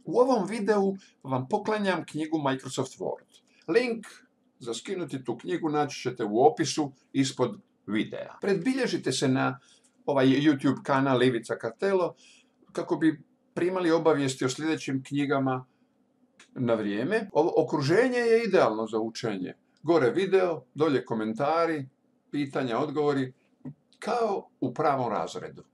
U ovom videu vam poklanjam knjigu Microsoft Word. Link za skinuti tu knjigu naći ćete u opisu ispod videa. Predbilježite se na ovaj YouTube kanal Ivica Kartelo kako bi primali obavijesti o sljedećim knjigama na vrijeme. Ovo okruženje je idealno za učenje. Gore video, dolje komentari, pitanja, odgovori, kao u pravom razredu.